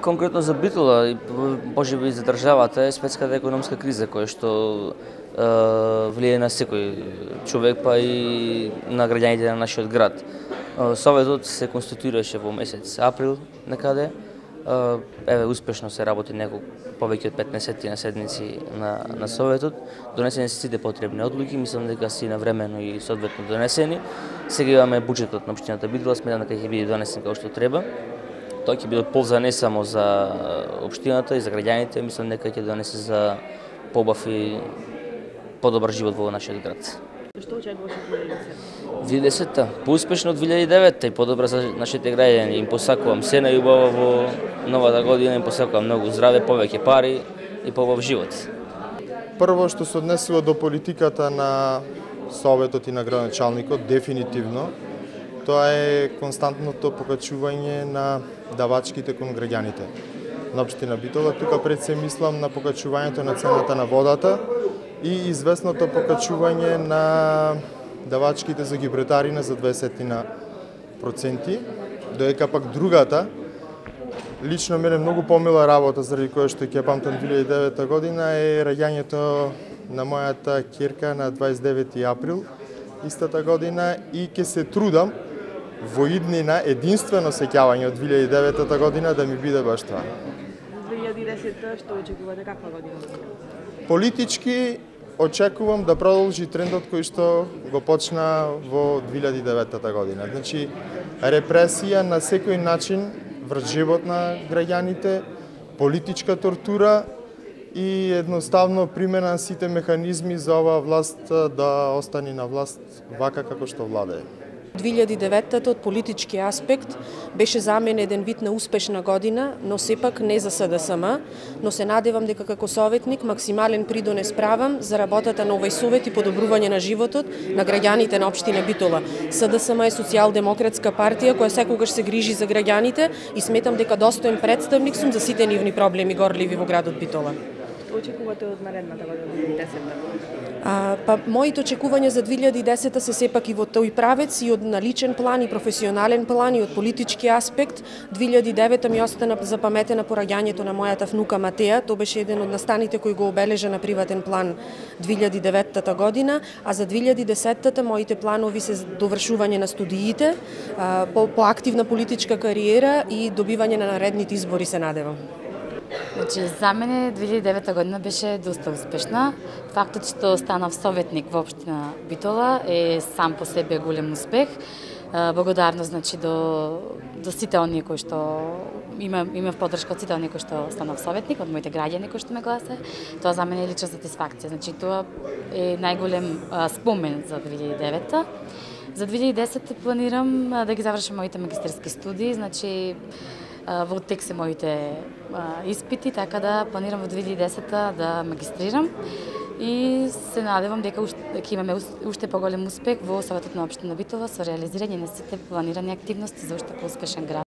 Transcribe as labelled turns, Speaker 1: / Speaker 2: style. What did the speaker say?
Speaker 1: Конкретно за Битола, можеби и за државата, е светската економска криза која што влијае на секој човек, па и на граѓаните на нашиот град. Советот се конституираше во месец април некаде. Еве успешно се работи повеќе од 15 на седници на Советот. Донесени се сите потребни одлуки, мислам дека си навремено и соодветно донесени. Сега имаме буџетот на општината Битола, сметам дека ќе биде донесен како што треба. Тоа ќе биде полза не само за општината и за граѓаните, мислам дека ќе донесе за побав и подобар живот во нашиот град.
Speaker 2: Што очекуваш од
Speaker 1: 2010-та? Поуспешно од 2009-та и подобра за нашите граѓани. Им посакувам се најубаво во новата година, им посакувам многу здраве, повеќе пари и побав живот.
Speaker 3: Прво што се однесува до политиката на Советот и на градоначалникот, дефинитивно, тоа е константното покачување на давачките кон граѓаните на општина Битола. Тука пред се мислам на покачувањето на цената на водата и известното покачување на давачките за гибретарина за 20%, доека пак другата, лично мене многу помила работа, заради која што ќе памтам 2009 година, е раѓањето на мојата ќерка на 29 април истата година и ќе се трудам во иднина единствено сеќавање од 2009 година да ми биде баш тоа.
Speaker 2: 2010 што очекувате, каква година?
Speaker 3: Политички очекувам да продолжи трендот кој што го почна во 2009 година. Значи, репресија на секој начин врз живот на граѓаните, политичка тортура и едноставно примена на сите механизми за оваа власт да остане на власт вака како што владее.
Speaker 4: 2009-та од политички аспект беше за мене еден вид на успешна година, но сепак не за СДСМ, но се надевам дека како советник максимален придонес правам за работата на овој совет и подобрување на животот на граѓаните на општина Битола. СДСМ е социјалдемократска партија која секогаш се грижи за граѓаните и сметам дека достоен представник сум за сите нивни проблеми горливи во градот Битола.
Speaker 2: Што очекувате од наредната година, 2010-та?
Speaker 4: Моите очекувања за 2010-та се сепак и во тој правец и од наличен план и професионален план и од политички аспект. 2009-та ми остана запаметена пораѓањето на мојата внука Матеја. Тоа беше еден од настаните кој го обележа на приватен план 2009 година, а за 2010-та моите планови се довршување на студиите, по активна политичка кариера и добивање на наредните избори се надевам.
Speaker 5: Значи, за мене 2009 година беше доста успешна. Фактот што станав советник во општина Битола е сам по себе голем успех. Благодарност значи до сите оние кои што имав поддршка од сите оние кои што станав советник, од моите граѓани кои што ме гласа. Тоа за мене е лична сатисфакција. Значи тоа е најголем спомен за 2009-та. За 2010 планирам да ги завршам моите магистерски студии, значи во тек се моите испити, така да планирам во 2010 да магистрирам и се надевам дека ќе имаме уште поголем успех во Советот на општина Битола со реализирање на сите планирани активности за уште поуспешен град.